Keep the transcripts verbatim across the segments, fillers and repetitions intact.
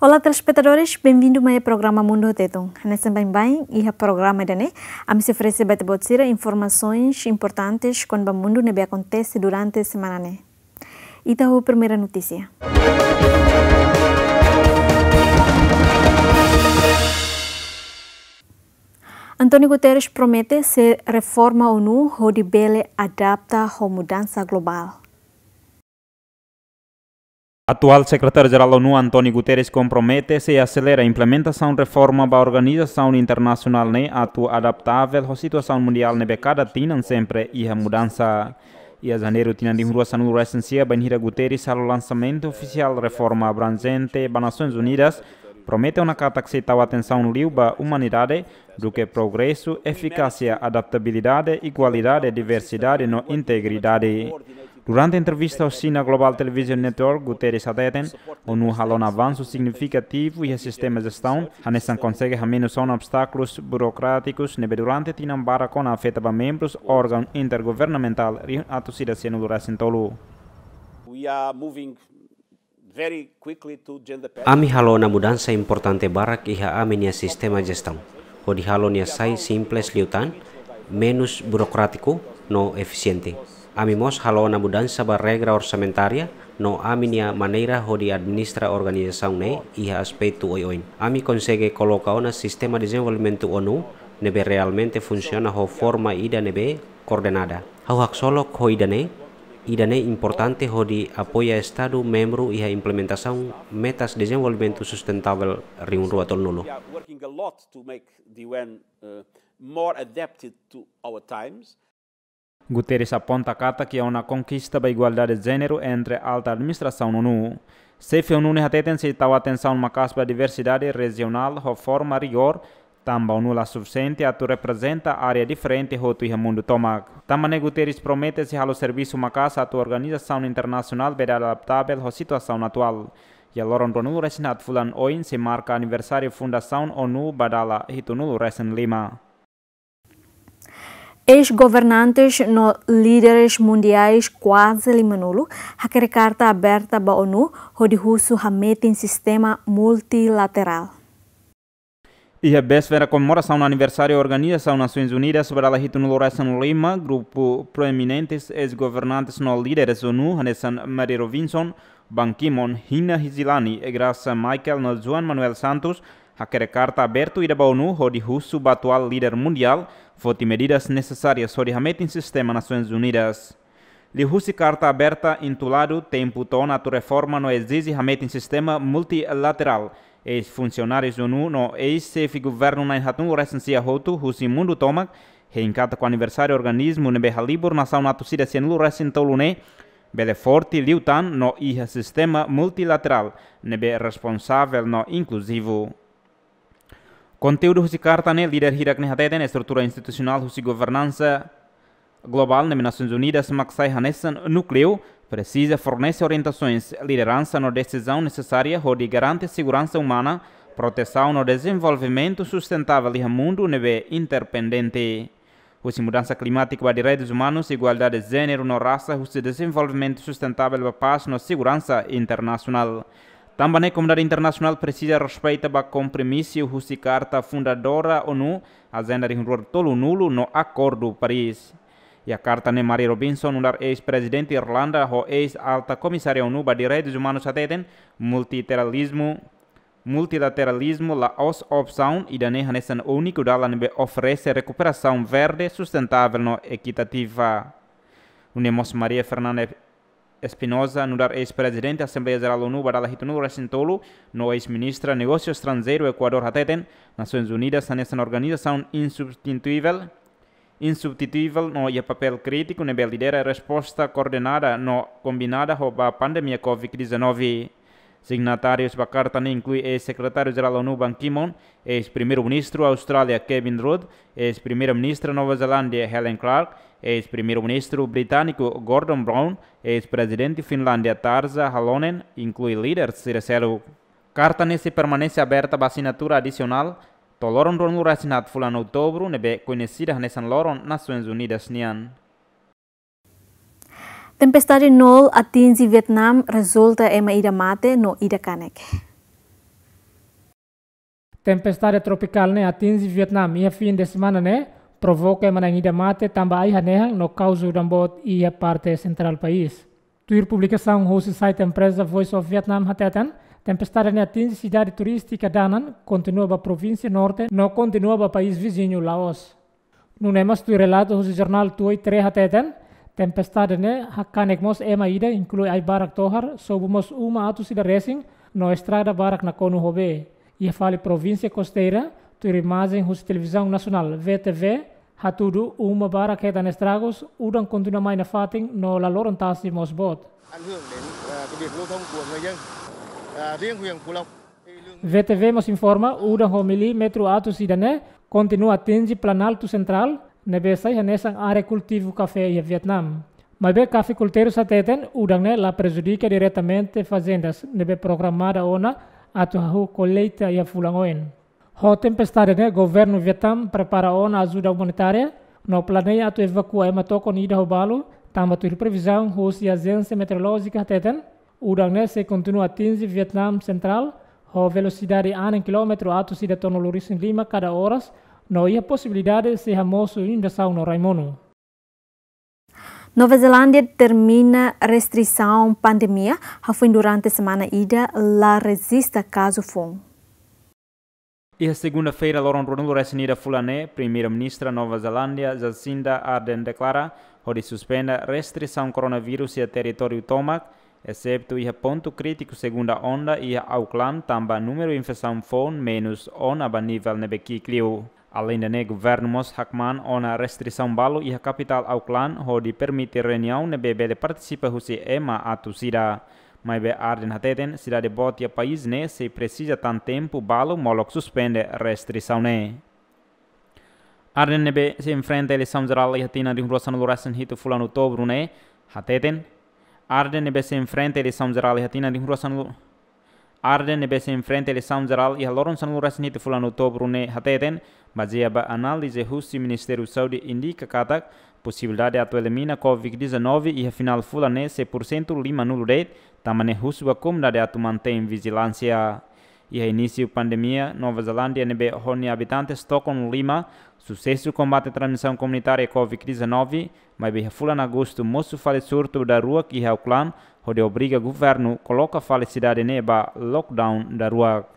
Olá, telespetadores, benvindu mai programa Mundu ho Tetun. Hanesan baibain, iha programa ida-ne'e, ami sei oferese ba ita-boot sira informasoens importantes kona-ba mundu ne'ebé akontese durante semana ne'e. Ita ho primeira notísia. António Guterres promete sei reforma ONU hodi bele adapta ho mudansa globál. Atuál Sekretáriu-Jerál ONU, António Guterres, kompromete sei aselera implementasaun reforma ba organizasaun internasionál ne'e atu adaptavel ho situasaun mundiál ne'ebé kada tinan sempre iha mudansa. Iha Janeiru tinan rihun rua sanulu resin sia, bainhira Guterres halo lansamentu ofisiál reforma abranjente ba Nasoins Unidas, promete ona katak sei tau atensaun liu ba umanidade, duké progresu, efikásia, adaptabilidade, igualdade, diversidade no integridade. Durante entrevista ho China Global Television Network, Guterres hateten, ONU halo ona avansu signifikativu iha sistema jestaun, hanesan konsege hamenus ona obstákulus burokrátikus ne'ebé durante tinan barak ona afeta ba membrus órgaun intergovernamentál rihun atus ida sianulu resin tolu. We are moving very quickly to gender parity. Ami halo ona mudansa importante barak iha ami-nia sistema jestaun, hodi halo nia sai simples liután, menus burokrátiku no efisiente. Ami mós halo ona mudansa ba regra orsamentária no ami-nia maneira hodi administra organizasaun ne'e iha aspetu oioin. Ami konsege koloka ona sistema dezenvolvimentu ONU ne'ebé realmente funsiona ho forma ida ne'ebé koordenada. Ha'u haksolok ho ida-ne'e, ida-ne'e importante hodi apoia Estadu membru iha implementasaun metas dezenvolvimentu sustentável rihun rua tolunulu. We are working a lot to make the U N, uh, more adapted to our times. Guterres aponta katak iha ona konkista ba igualdade jéneru entre alta administrasaun ONU. Xefe ONU ne'e hateten sei tau atensaun maka'as ba diversidade rejionál ho forma rigór, tanba ONU la sufisiente atu reprezenta área diferente hotu iha mundu tomak. Tanba ne'e Guterres promete sei halo servisu maka'as atu organizasaun internasionál bele adaptavel ho situasaun atuál. Iha loron ruanulu resin haat fulan oin sei marka aniversáriu fundasaun ONU ba dala hitunulu resin lima. Eis-governantes no líderes mundiais kuaze limanulu hakerek karta aberta ba ONU hodi husu hametin sistema multilaterál. Iha véspera komemorasaun aniversáriu Organizasaun Nasoins Unidas ba dala hitunulu resin lima, grupu proeminentes eis-governantes no líderes ONU, hanesan Mary Robinson, Ban Ki-moon, Hina Hizilani, Graça Michael no Juan Manuel Santos, hakerek karta abertu ida ba ONU hodi husu ba atuál líder mundiál foti medidas nesesárias hodi hametin sistema Nasoins Unidas. Liuhusi karta aberta intituladu Tempu To'o Ona Atu Reforma no Ezije Hametin Sistema Multilaterál, eis-funsionárius ONU no eis-xefe governu na'in haatnulu resin sia hotu husi mundu tomak hein katak aniversáriu organismu ne'ebé halibur nasaun atus ida sianulu resin tolu ne'e bele forte liután no iha sistema multilaterál ne'ebé responsavel no inkluzivu. Konteúdu husi karta ne'e, líder hirak ne'e hateten estrutura institusionál husi governansa globál ne'ebé Nasoins Unidas mak sai hanesan núkleu, presiza fornese orientasoens, lideransa no desizaun nesesária hodi garante seguransa umana, protesaun no dezenvolvimentu sustentável iha mundu ne'ebé interdependente. Husi mudansa klimátiku ba direitus umanus, igualdade jéneru no rasa, husi dezenvolvimentu sustentável ba pás no seguransa internasionál. Tanba ne'e komunidade internasionál presiza respeita ba kompromisu husi Karta Fundadora ONU, Ajenda rihun rua tolunulu no Akordu Paris. Iha karta ne'e Mary Robinson, nu'udar eis-prezidente Irlanda ho eis-alta komisária ONU ba direitus umanus hateten, multilateralizmu, multilateralizmu la'ós opsaun, ida-ne'e hanesan úniku dalan ne'ebé oferese rekuperasaun verde, sustentável no ekitativa. Nune'e mós Maria Fernanda Espinosa, nu'udar eis-prezidente Asembleia Jerál ONU ba dala hitunulu resin tolu, no eis-ministra Negósiu Estranjeiru Ekuadór hateten, Nasoins Unidas hanesan organizasaun insubstituivel, insubstituivel no iha papél krítiku ne'ebé lidera resposta koordenada no kombinada ho ba pandemia covid dezanove. Signatárius ba karta ne'e inklui eis-Sekretáriu-Jerál ONU Ban Ki-moon, eis-Primeiru-Ministru Austrália Kevin Rudd, eis-Primeira-Ministra Nova Zelándia Helen Clark, eis-Primeiru-Ministru Britániku Gordon Brown, eis-Prezidente Finlándia Tarja Halonen, inklui líder sira seluk. Karta ne'e sei permanese aberta ba asinatura adisionál to'o loron ruanulu resin haat fulan Outubru, ne'ebé koñesida hanesan loron Nasoins Unidas nian. Tempestade Noel atinje Vietname, rezulta ema ida mate no ida kanek. Tempestade tropikál ne'e atinje Vietnam iha fin de semana ne'e, provoka ema na'in ida mate tanba ai hanehan no kauza udan boot iha parte sentrál país. Tuir publikasaun husi site empreza Voice of Vietnam hateten, tempestade ne'e atinje sidade turístika Da Nang, kontinua ba provínsia norte no kontinua ba país viziñu Laos. Nune'e mós tuir relatu husi jornál Tuoi Tre hateten, tempestade ne'e hakanek mós ema ida, inklui ai barak tohar, sobu mós uma atus ida resin, no estrada barak nakonu ho bee. Iha fali provínsia kosteira, tuir imajen husi televizaun nasionál V T V, hatudu uma barak hetan estragus, udan kontinua mai nafatin no la loron tasi mós boot. Ảnh hưởng đến, à, cái việc lưu thông của người dân. À, riêng huyện Phú Lộc thì lượng V T V mós informa, udan ho milímetru atus ida ne'e kontinua atinje Planaltu Sentrál, ne'ebé sai hanesan área kultivu kafé iha Vietnam. Maibé kafikulteirus hateten, udan ne'e la prejudika diretamente fazendas ne'ebé programada ona atu hahú kolleita iha fulan oin. Ho tempestade ne'e, governu Vietnam prepara ona ajuda umanitária no planeia atu evakua ema tokon ida ho balu, tanba tuir previzaun husi Ajénsia Meteorolójika hateten, udan ne'e sei kontinua atinje Vietnam Sentrál ho velosidade anin kilómetru atus ida tolu-nulu resin lima kada oras, no iha posibilidade sei hamosu inundasaun no rai-monu. Nova Zelándia termina restrisaun pandemia, hafoin durante semana ida la rejista kazu foun. Iha segunda-feira, loron ruanulu resin ida fulan ne'e, Primeira-Ministra Nova Zelándia, Jacinda Ardern, deklara hodi suspende restrisaun koronavírus iha territóriu tomak, exetu iha pontu krítiku segunda onda iha Auckland, tanba númeru infesaun foun menus ona ba nivel ne'ebé ki'ik liu. Aleinde ne'e, governu mós hakmaan ona restrisaun balu iha kapitál Auckland, hodi permite reuniaun ne'ebé bele partisipa husi ema atus ida. Maibé Ardern hateten, sidade boot iha país ne'e sei presiza tan tempu balu molok suspende restrisaun ne'e. Ardern ne'ebé sei enfrenta eleisaun jerál iha tinan rihun rua sanulu resin hitu fulan outubru ne'e hateten, Ardern ne'ebé sei enfrenta eleisaun jerál iha tinan rihun rua sanulu Ardern ne'ebé sei enfrenta eleisaun jerál iha loron sanulu resin hitu fulan outubru ne'e hateten, bazeia ba análize husi Ministériu Saúde indika katak posibilidade atu elimina covid dezanove iha finál fulan ne'e sei porsentu limanulu de'it, tanba ne'e husu ba komunidade atu mantein vijilánsia. Iha inísiu pandemia, Nova Zelándia ne'ebé ho nia abitantes tokon lima, susesu kombate transmisaun komunitária covid dezanove, maibé iha fulan agostu mosu fali surtu daruak iha Auckland, hodi obriga governu koloka fali sidade ne'e ba lockdown daruak.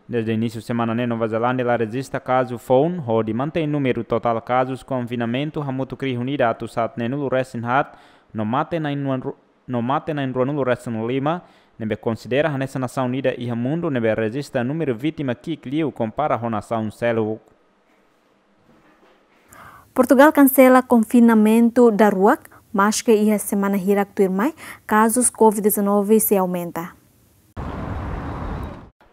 Desde inísiu semana ne'e, Nova Zelándia la rejista kazu foun, hodi mantein númeru totál kazus konfinamentu hamutuk rihun ida atus haat neenulu resin haat, no mate na'in-rua-, no mate na'in-ruanulu resin lima, ne'ebé konsidera hanesan nasaun ida iha mundu ne'ebé rejista númeru vítima ki'ik liu kompara ho nasaun seluk. Portugal kansela konfinamentu daruak, maske iha semana hirak tuirmai, kazus covid dezanove sei aumenta.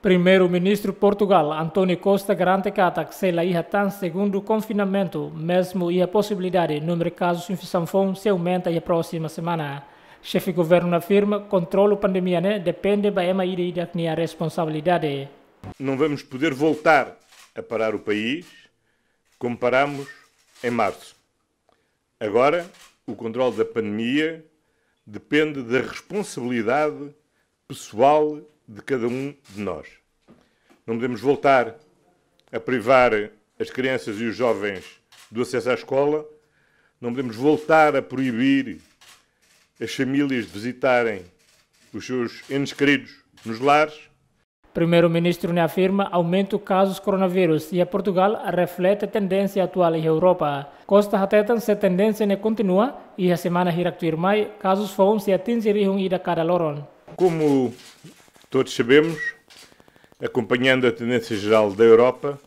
Primeiru-Ministru Portugal, António Costa, garante katak sei la iha tan segundu konfinamentu, mezmu iha posibilidade númeru kazus infesaun foun sei aumenta iha prósima semana. Xefe governu afirma, kontrolu pandemia ne'e depende ba ema ida-idak nia responsabilidade. Não vamos poder voltar a parar o país como parámos em março. Agora, o controle da pandemia depende da responsabilidade pessoal de cada um de nós. Não podemos voltar a privar as crianças e os jovens do acesso à escola, não podemos voltar a proibir as famílias de visitarem os seus entes queridos nos lares. Primeiru-Ministru ne'e afirma, aumentu kazus koronavírus iha Portugal reflete tendénsia atuál iha Europa. Costa hateten, se tendénsia ne'e kontinua, iha semana hirak tuirmai, kazus foun sei atinje rihun ida kada loron. Como todos sabemos, acompanhando a tendência geral da Europa,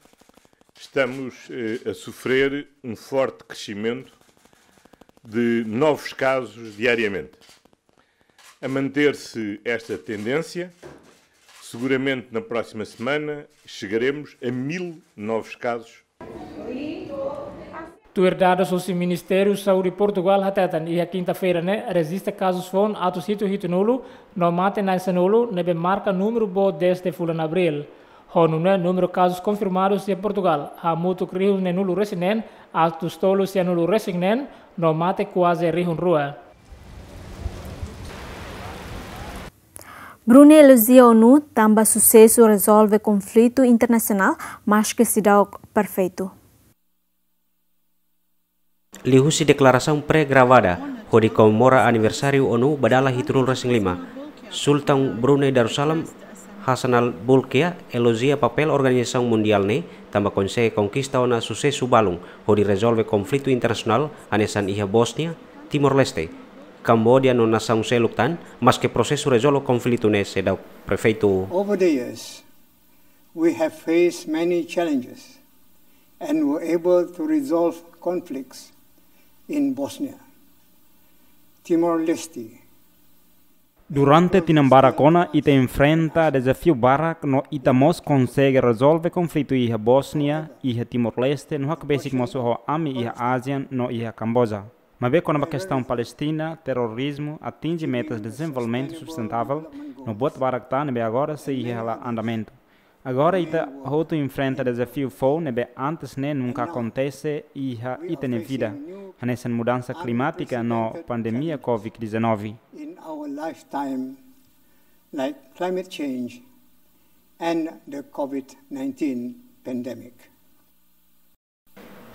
estamos, eh, a sofrer um forte crescimento de novos casos diariamente. A manter-se esta tendência, seguramente na próxima semana chegaremos a mil novos casos. Tuir dadus husi Ministériu Saúde Portugal hateten, iha kinta-feira ne'e rejista kazus foun atus hitu hitunulu, no mate na'in-sanulu, ne'ebé marka númeru boot desde fulan Abríl. Ho nune'e númeru kazus konfirmadus iha Portugal hamutuk rihun neenulu resin neen, atus tolu sianulu resin neen, no mate kuaze rihun rua. Brunei elojia ONU tanba susesu rezolve konflitu internasionál, maske seidauk perfeitu. Liuhusi deklarasaun pré-gravada hodi komemora aniversáriu ONU ba dala hitunulu resin lima, Sultan Brunei Darussalam Hassanal Bolkiah elojia papél organizasaun mundiál ne'e tanba konsege konkista ona susesu balun hodi rezolve konflitu internasionál hanesan iha Bósnia, Timor-Leste, Kamboja no nasaun seluk tan, maske prosesu rezolve konflitu ne'e seidauk perfeitu. Over the years, we have faced many challenges and were able to resolve conflicts in Bosnia, Timor-Leste. Durante tinan barak ona, ita enfrenta dezafiu barak no ita mós konsege rezolve konflitu iha Bósnia, iha Timor-Leste, no hakbesik mós ho ami iha ASEAN no iha Kamboja. Maibé kona-ba kestaun Palestina, terrorizmu, atinje metas dezenvolvimentu sustentável, no buat barak tan ne'ebé agora sei iha hela andamentu. Agora ita hotu enfrenta dezafiu foun ne'ebé antes ne'e nunka akontese iha ita-nia vida, hanesan mudansa klimátika no pandemia covid dezanove. In our lifetime, like climate change and the covid nineteen pandemic.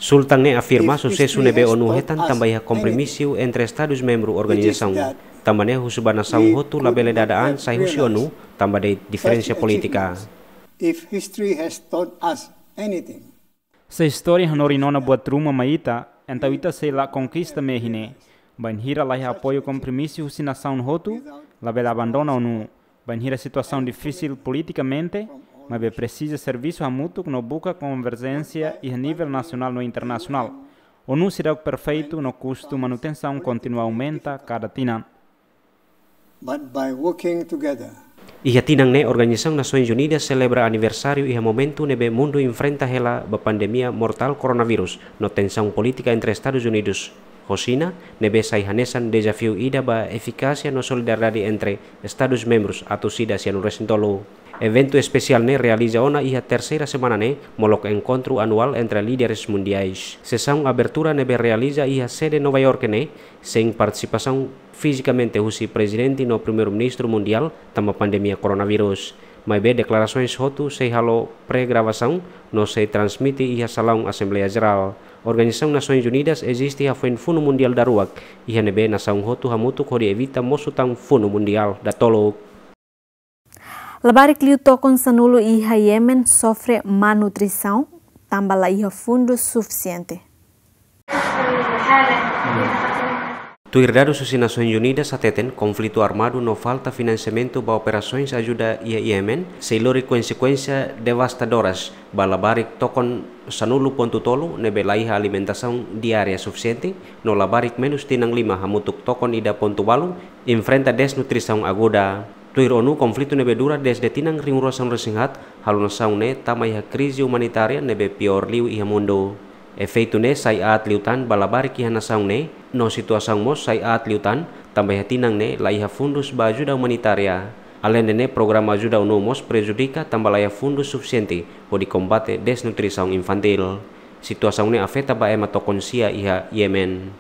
Sultan ne'e afirma susesu ne'ebé ONU hetan tanba iha kompromisu entre Estadus membru organizasaun. Tanba ne'e husu ba nasaun hotu labele dada an sai husi ONU tanba de'it diferensa polítika. If history has taught us anything, se istória hanorin ona buat ruma mai ita, entaun ita sei la konkista mehi ne'e. Bainhira la iha apoiu kompromisu husi nasaun hotu, labele abandona ONU. Bainhira situasaun difisil politikamente, maibé presiza servisu hamutuk no buka konverjénsia iha nivel nasionál no internasionál. ONU seidauk perfeitu no kustu manutensaun kontinua aumenta kada tinan. But by working together. Iha tinan ne'e Organizasaun Nasoins Unidas selebra aniversáriu iha momentu ne'ebé mundu enfrenta hela ba pandemia mortál koronavírus no tensaun polítika entre Estadus Unidus ho Xina, ne'ebé sai hanesan dezafiu ida ba efikásia no solidariedade entre Estadus membrus atus ida sianulu resin tolu. Eventu espesiál ne'e realiza ona iha terseira semana ne'e, molok enkontru anuál entre líderes mundiais. Sesaun abertura ne'ebé realiza iha sede Nova York ne'e, sein partisipasaun fizikamente husi Prezidente no Primeiru-Ministru Mundiál tanba pandemia koronavírus. Maibé deklarasoens hotu sei halo pré-gravasaun no sei transmite iha salaun Asembleia Jerál. Organizasaun Nasoins Unidas eziste hafoin Funu Mundiál daruak, iha ne'ebé nasaun hotu hamutuk hodi evita mosu tan Funu Mundiál datoluk. Labarik liu tokon sanulu iha Yemen sofre má nutrisaun, tanba la iha fundu sufisiente. Tuir dadus husi Nasoins Unidas hateten, konflitu armadu no falta finansiamentu ba operasoens ajuda iha Yemen, sei lori konsekuénsia devastadoras ba labarik tokon sanulu pontu tolu ne'ebé la iha alimentasaun diária sufisiente, no labarik menus tinan lima hamutuk tokon ida pontu balu enfrenta desnutrisaun aguda. Tuir ONU, konflitu ne'ebé dura dezde tinan rihun rua sanulu resin haat, halo nasaun ne'e tama iha krize umanitária ne'ebé piór liu iha mundu. Efeitu ne'e sai aat liután ba labarik iha nasaun ne'e, no situasaun mós sai aat liután, tanba iha tinan ne'e la iha fundus ba ajuda umanitária. Aleinde ne'e, programa ajuda ONU mós prejudika tanba la iha fundus sufisiente hodi kombate desnutrisaun infantíl. Situasaun ne'e afeta ba ema tokon sia iha Yemen.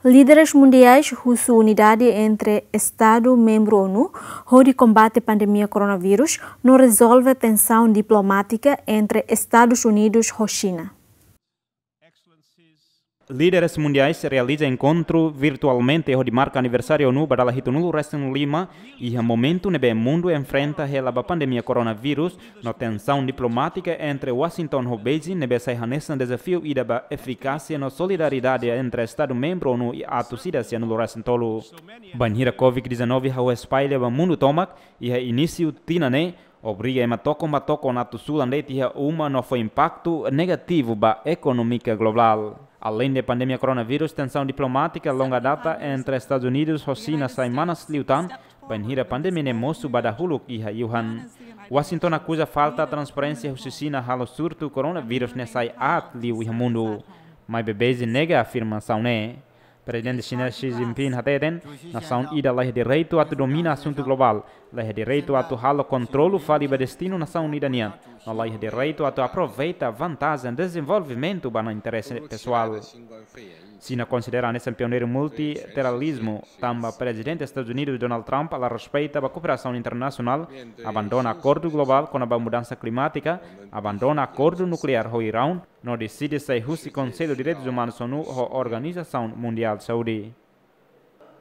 Líderes mundiais husu unidade entre Estadu membru ONU hodi kombate pandemia koronavírus no rezolve tensaun diplomátika entre Estadus Unidus ho Xina. Líderes mundiais realiza enkontru virtualmente hodi marka aniversáriu ONU ba dala hitunulu resin lima, iha momentu ne'ebé mundu enfrenta hela ba pandemia koronavírus, no tensaun diplomátika entre Washington ho Beijing ne'ebé sai hanesan dezafiu ida ba efikásia no solidariedade entre Estadu membru ONU atus ida sianulu resin tolu. Bainhira covid dezanove hahú espalla ba mundu tomak, iha inísiu tinan ne'e, obriga ema tokon ba tokon atu sulan de'it iha uma no fó impaktu negativu ba ekonomia globál. Aleinde pandemia koronavírus, tensaun diplomátika longa data entre Estadus Unidus ho Xina sai manas liután, bainhira pandemia ne'e mosu ba dahuluk iha Wuhan. Washington akuza falta transparénsia husi Xina halo surtu koronavírus ne'e sai aat liu iha mundu. Maibé Beijing nega afirmasaun ne'e. Prezidente Xina Xi Jinping hateten, nasaun ida la iha direitu atu domina asuntu globál, la iha direitu atu halo kontrolu fali ba destinu nasaun ida nian, no la iha direitu atu aproveita vantajen dezenvolvimentu ba nia interese pesoál. Xina konsidera hanesan pioneiru multilateralizmu, tanba Prezidente Estadus Unidus Donald Trump la respeita ba kooperasaun internasionál, abandona akordu globál kona-ba mudansa klimátika, abandona akordu nukleár ho Iraun, no deside sai husi Konsellu Direitus Umanus ONU ho Organizasaun Mundiál Saúde.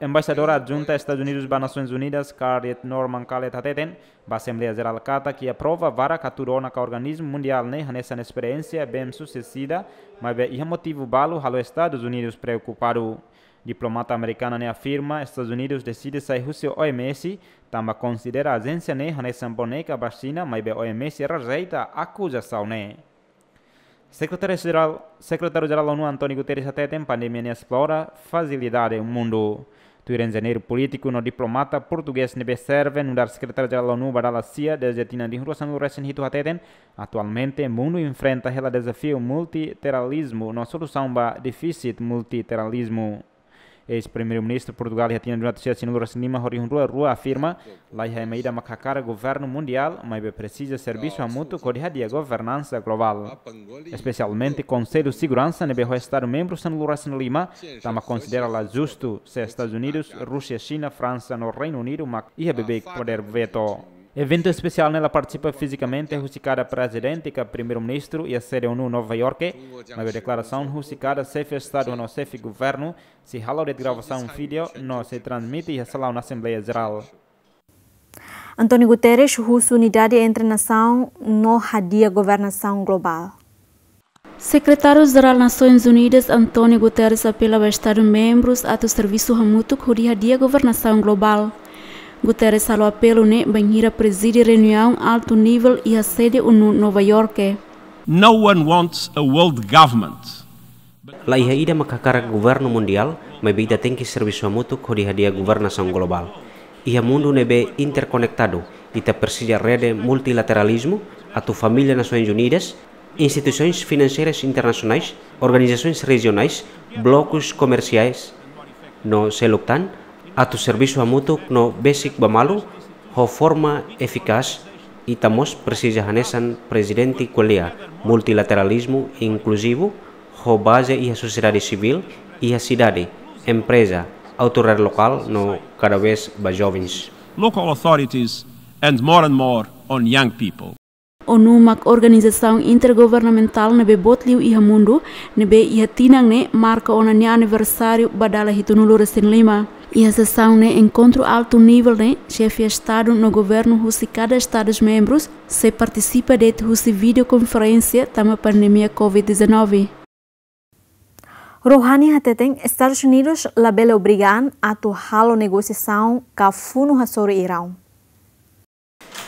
Embaixadora Adjunta Estadus Unidus ba Nasoins Unidas, Kardit Norman Khaled hateten ba Asembleia Jerál katak iha prova barak atu rona ka organismu mundiál ne'e hanesan esperiénsia bem-sucedida, maibé iha motivu balu halo Estadus Unidus preokupadu. Diplomata amerikana ne'e afirma Estadus Unidus deside sai husi O M S, tanba konsidera ajénsia ne'e hanesan boneka ba Xina, maibé O M S rejeita akuzasaun ne'e. Sekretáriu Jerál, Sekretáriu Jerál ONU António Guterres hateten pandemia ne'e esplora frajilidade mundu. Tuir enjeñeiru polítiku no diplomata portugés ne'ebé serve nu'udar Sekretáriu Jerál ONU ba dala sia dezde tinan rihun rua sanulu resin hitu hateten, atualmente mundu enfrenta hela dezafiu multilateralizmu no solusaun ba defísit multilateralizmu. Eis-Primeiru-Ministru Portugál iha tinan rihun novecentos e setenta e cinco, rua afirma, laiha ema ida mak hakarak governu mundiál, maibé presiza servisu hamutuk hodi hadi'a governansa globál. Espesialmente Konsellu Seguransa ne'ebé ho Estadu membru sanulu resin lima, tanba konsidera la justu se Estadus Unidus, Rúsia, Xina, Fransa no Reinu Unidu mak iha beibeik podér veto. Eventu espesiál ne'e la partisipa fizikamente husi kada prezidente ka primeiru-ministru iha sede ONU Nova Iorke, maibé deklarasaun husi kada xefe Estadu no xefe governu sei halo de'it gravasaun vídeo no sei transmite iha salaun Asembleia Jerál. António Guterres husu unidade entre nasaun no hadi'a governasaun globál. Sekretáriu Jerál Nasoins Unidas António Guterres apela ba Estadu membrus atu servisu hamutuk hodi hadi'a governasaun globál. Guterres halo apelu ne'e bainhira prezide reuniaun altu nivel iha sede ONU Nova Iorke. No one wants a world government. Laiha ida mak hakarak governu mundiál, maibé ita tenke servisu hamutuk hodi hadi'a governasaun globál. Iha mundu ne'ebé interkonektadu, ita presiza rede multilateralizmu, atu família Nasoins Unidas, instituisoins finanseiras internasionais, organizasoins rejionais, blokus komersiais no seluk tan, atu servisu hamutuk no besik ba malu, ho forma efikás. Ita mós presiza hanesan prezidente ko'alia, multilateralizmu inkluzivu, ho baze iha sosiedade sivíl, iha sidade, empreza, autoridade lokál no kada vez ba jovens. Local authorities and more and more on young people. ONU mak organizasaun intergovernamentál ne'ebé boot liu iha mundu, ne'ebé iha tinan ne'e marka ona nia aniversáriu ba dala hitunulu resin lima. Iha sesaun ne'e enkontru altu nivel ne'e, xefe Estadu no governu husi kada Estadus membrus sei partisipa de'it husi videokonferénsia tanba pandemia covid dezanove. Rouhani hateten Estadus Unidus labele obriga an atu halo negosiasaun ka funu hasoru Iraun.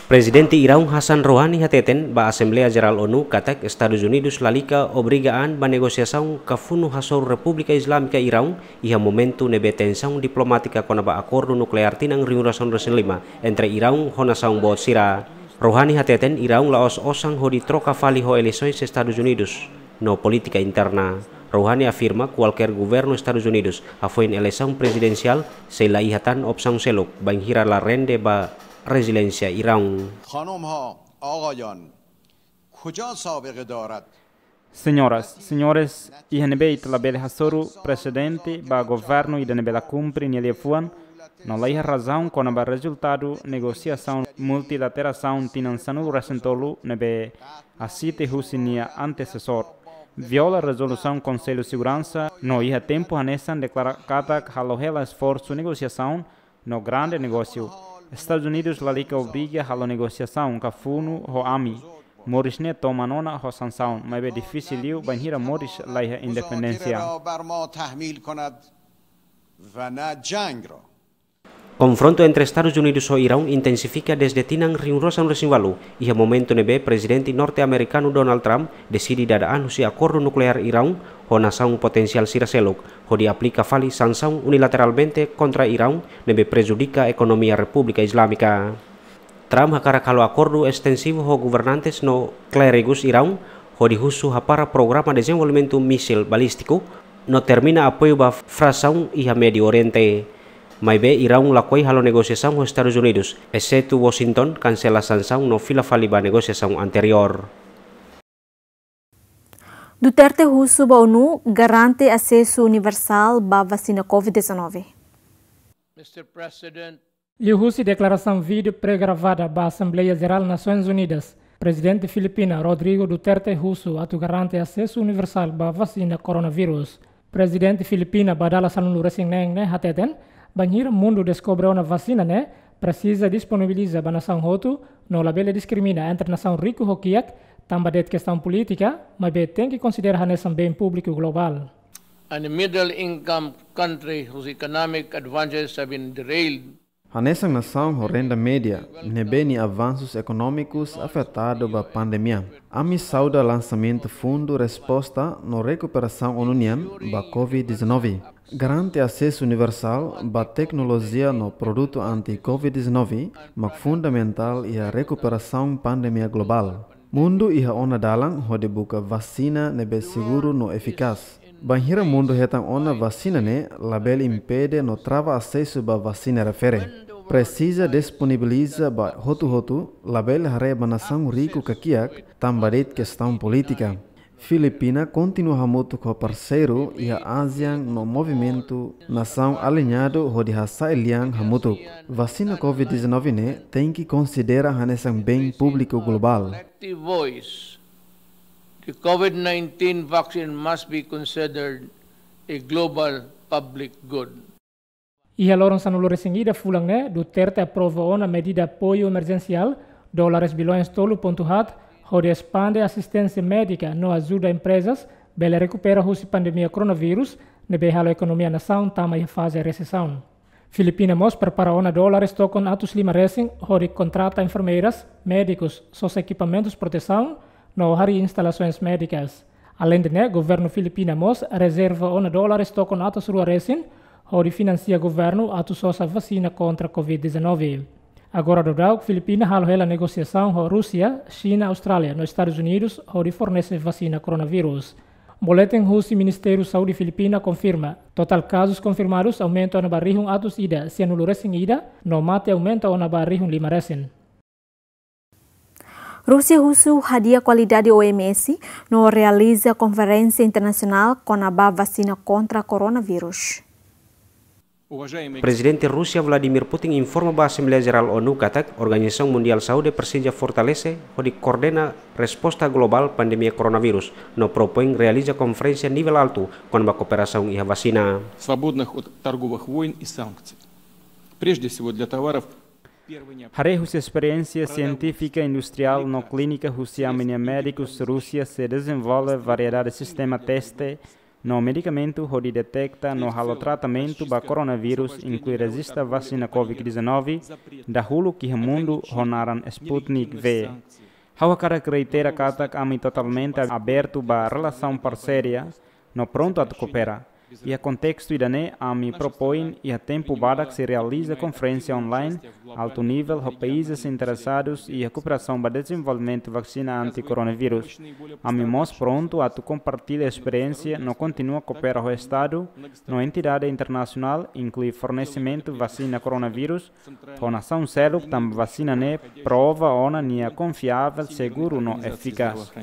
Prezidente Iraun Hassan Rouhani hateten ba Asembleia Jerál ONU katak Estadus Unidus lalika obriga an ba negosiasaun ka funu hasoru Repúblika Islámika Iraun iha momentu ne'ebé tensaun diplomátika kona-ba akordu nukleár tinan rihun rua sanulu resin lima entre Iraun ho nasaun boot sira. Rouhani hateten Iraun la'ós osan hodi troka fali ho eleisoens Estadus Unidus no polítika interna. Rouhani afirma kualkér governu Estadus Unidus hafoin eleisaun prezidensiál sei la iha tan opsaun seluk bainhira la rende ba reziliénsia Iraun. خانم‌ها، آقایان، کجا سابقه دارد؟ Señoras, señores, iha ne'ebé ita labele hasoru prezidente ba governu ida ne'ebé la kumpre nia liafuan, no laiha razaun kona-ba rezultadu negosiasaun multilaterasaun tinan sanulu resin tolu ne'ebé asiste husi nia antesesór. Viola rezolusaun Konsellu Seguransa, no iha tempu hanesan deklara katak halo hela esforsu negosiasaun no grande negósiu. Estadus Unidus lalika obriga halo negosiasaun ka funu ho ami. Moris ne'e toman ona ho sansaun, maibé difisil liu bainhira moris laiha independénsia. را بر ما تحمیل کند و نه جنگ را. Konfrontu entre Estadus Unidus ho Iraun intensifika dezde tinan rihun rua sanulu resin ualu, iha momentu ne'ebé Prezidente norte-amerikanu Donald Trump deside dada an husi akordu nukleár Iraun ho nasaun potensiál sira seluk, hodi aplika fali sansaun unilateralmente kontra Iraun ne'ebé prejudika ekonomia Repúblika Islámika. Trump hakarak halo akordu estensivu ho governantes no klérigus Iraun, hodi husu hapara programa dezenvolvimentu mísil balístiku, no termina apoiu ba frasaun iha Médiu Oriente. Maibé Iraun lakohi halo negosiasaun ho Estadus Unidus, esetu Washington kansela sansaun no fila fali ba negosiasaun anteriór. Duterte husu ba ONU garante asesu universál ba vasina covid dezanove. Mister President, Liuhusi deklarasaun vídeo pré-gravada ba Asembleia Jerál Nasoins Unidas, Prezidente Filipina Rodrigo Duterte husu atu garante asesu universál ba vasina koronavírus. Prezidente Filipina ba dala sanulu resin neen ne'e hateten, bainhira mundu deskobre ona vasina ne'e, presiza disponibiliza ba nasaun hotu, no labele diskrimina entre nasaun riku ho kiak, tanba de'it kestaun polítika, maibé tenke konsidera hanesan bem públiku globál. And a middle income country whose economic advantages have been derailed. Hanesan nasaun ho renda média, ne'ebé nia avansus ekonómikus afetadu ba pandemia, ami sauda lansamentu Fundu Resposta no Rekuperasaun ONU nian ba covid dezanove. Garante asesu universál ba teknolojia no produtu anti covid dezanove mak fundamentál iha rekuperasaun pandemia globál. Mundu iha ona dalan hodi buka vasina ne'ebé seguru no efikás. Bainhira mundu hetan ona vasina ne'e, labele impede no trava asesu ba vasina refere. Presiza disponibiliza ba hotu-hotu, labele haree ba nasaun riku ka kiak, tanba de'it kestaun polítika. Filipina kontinua hamutuk ho parseiru iha ASEAN no movimentu nasaun aliñadu hodi hasa'e lian hamutuk. Vasina covid dezanove ne'e tenke konsidera hanesan bem públiku globál. Collective voice, the covid nineteen vaccine must be considered a global public good. Iha loron sanulu resin ida fulan ne'e, Duterte aprova ona medida apoiu emerjensiál dólares bilhões tolu pontu haat, hodi espande asisténsia médika no ajuda emprezas bele rekupera husi pandemia koronavírus, ne'ebé halo ekonomia nasaun tama iha faze resesaun. Filipina mós prepara ona dólares tokon atus lima resin, hodi kontrata enfermeiras, médikus, sosa ekipamentus protesaun, no harii instalasoens médikas. Aleinde ne'e, governu Filipina mós rezerva ona dólares tokon atus rua resin, hodi finansia governu atu sosa vasina kontra covid dezanove. Agora daudauk, Filipina halo hela negosiasaun ho Rúsia, Xina, Austrália, no Estadus Unidus, hodi fornese vasina koronavírus. Boletin husi Ministériu Saúde Filipina konfirma, totál kazus konfirmadus aumenta ona ba rihun atus ida sianulu resin ida, no mate aumenta ona ba rihun lima resin. Rúsia husu hadi'a kualidade O M S no realiza konferénsia internasionál kona-ba vasina kontra koronavírus. Prezidente Rúsia Vladimir Putin informa ba Asembleia Jerál ONU katak Organizasaun Mundiál Saúde presiza fortalese hodi koordena resposta globál pandemia koronavírus, no propoin realiza konferénsia nivel altu kona-ba kooperasaun iha vasina. Свободных от торговых войн и санкций. Прежде всего для товаров первой необходимости. Haree husi esperiénsia sientífika, industriál no klínika husi ami-nia médikus, Rúsia sei dezenvolve variedade sistema teste no medikamentu hodi deteta no halo tratamentu ba koronavírus, inklui rezista vasina covid dezanove dahuluk iha mundu ho naran Sputnik V. Ha'u hakarak reitera katak ami totalmente abertu ba relasaun parseria no prontu atu koopera. Iha kontestu ida-ne'e, ami propoin iha tempu badak sei realiza konferénsia online altu nivel ho países interesadus iha kooperasaun ba dezenvolvimentu vasina anti-koronavírus. Ami mós prontu atu kompartilla esperiénsia no kontinua koopera ho Estadu no entidade internasionál, inklui fornesimentu vasina koronavírus ho nasaun seluk, tanba vasina ne'e prova ona nia konfiavel, seguru no efikás.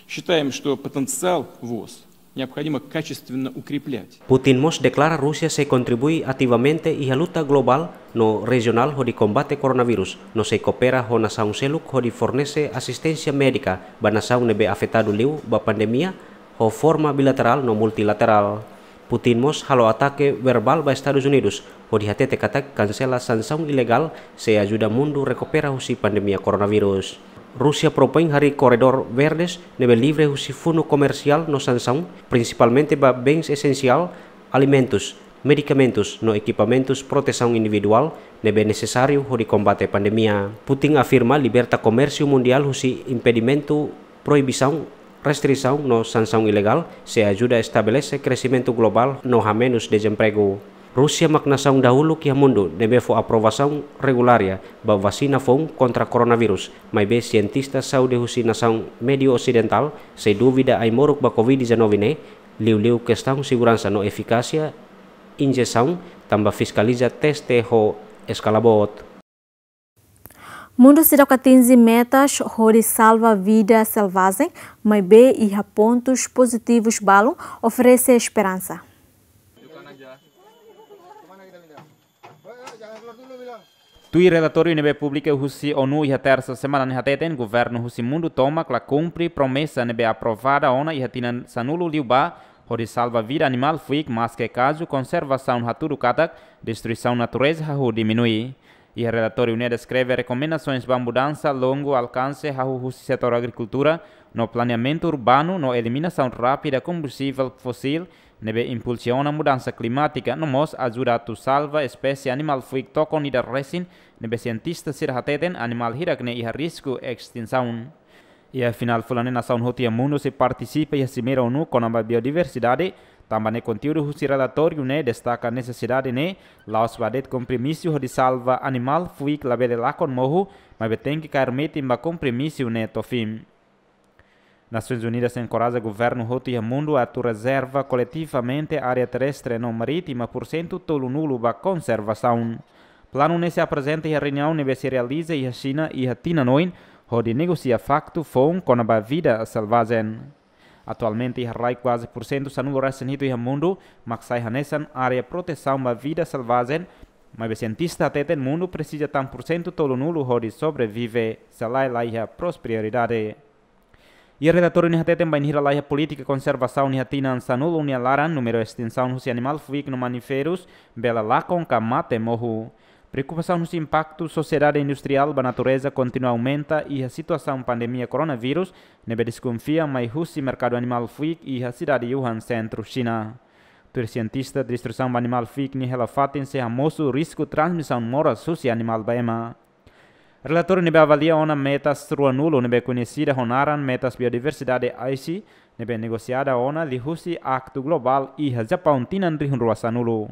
Считаем, что потенциал ВОЗ необходимо качественно укреплять. Putin mós deklara Rúsia sei kontribui ativamente iha luta globál no rejionál hodi kombate koronavírus, no sei koopera ho nasaun seluk hodi fornese asisténsia médika ba nasaun ne'ebé afetadu liu ba pandemia, ho forma bilaterál no multilaterál. Putin mós halo atake verbál ba Estadus Unidus, hodi hatete katak kansela sansaun ilegál sei ajuda mundu rekupera husi pandemia koronavírus. Rúsia propoin harii korredór verdes ne'ebé livre husi funu komersiál no sansaun, prinsipalmente ba bens esensiál, alimentus, medikamentus no ekipamentus protesaun individuál ne'ebé nesesáriu hodi kombate pandemia. Putin afirma liberta komérsiu mundiál husi impedimentu, proibisaun, restrisaun no sansaun ilegál sei ajuda estabelese kresimentu globál no hamenus dezempregu. Rúsia mak nasaun dahuluk iha mundu ne'ebé fó aprovasaun regulária ba vasina foun kontra koronavírus, maibé sientista saúde husi nasaun médiu osidentál sei dúvida ai-moruk ba covid dezanove ne'e, liuliu kestaun seguransa no efikásia injesaun, tanba fiskaliza teste ho eskala boot. Mundu seidauk atinje metas hodi salva vida selvajen, maibé iha pontus pozitivus balun oferese esperansa. Tuir relatóriu ne'ebé publika husi ONU iha tersa semana ne'e hateten, governu husi mundu tomak la kumpre promesa ne'ebé aprovada ona iha tinan sanulu liubá, hodi salva vida animál fuik, maske kazu konservasaun hatudu katak destruisaun natureza hahú diminui. Iha relatóriu ne'e deskreve rekomendasoens ba mudansa longu alkanse hahú husi setór agrikultura no planeamentu urbanu no eliminasaun rápida kombustivel fósil ne'ebé impulsiona mudansa klimátika no mós ajuda atu salva espésie animál fuik tokon ida resin ne'ebé sientista sira hateten animál hirak-ne'e iha risku estinsaun. Iha final fulan ne'e nasaun hotu iha mundu sei partisipa iha simeira ONU kona-ba biodiversidade, tanba ne'e konteúdu husi relatóriu ne'e destaka nesesidade ne'e la'ós ba de'it kompromisu hodi salva animál fuik labele lakon mohu, maibé tenke kaer metin ba kompromisu ne'e to'o fin. Nasoins Unidas enkoraja governu hotu iha mundu atu rezerva koletivamente área terrestre no marítima pursentu tolunulu ba konservasaun. Planu ne'e sei aprezenta iha reuniaun ne'ebé sei realiza iha Xina iha tinan oin, hodi negosia faktu foun kona-ba vida selvajen. Atualmente iha rai kuaze pursentu sanulu resin hitu iha mundu mak sai hanesan área protesaun ba vida selvajen, maibé sientista hateten mundu presiza tan pursentu tolunulu hodi sobrevive, se lae la iha prosperidade. Iha relatóriu ne'e hateten bainhira la iha polítika konservasaun iha tinan sanulu nia laran, númeru estinsaun husi animál fuik no mamiferus bele lakon ka mate mohu. Preokupasaun husi impaktu sosiedade industriál ba natureza kontinua aumenta iha situasaun pandemia koronavírus, ne'ebé deskonfia mai husi merkadu animál fuik iha sidade Wuhan, sentru Xina. Tuir sientista, destruisaun ba animál fuik nia hela fatin sei hamosu risku transmisaun moras husi animál ba ema. Relatóriu ne'ebé avalia ona metas ruanulu ne'ebé koñesida ho naran metas biodiversidade AICI, ne'ebé negosiada ona liuhusi aktu globál iha Japaun tinan rihun rua sanulu.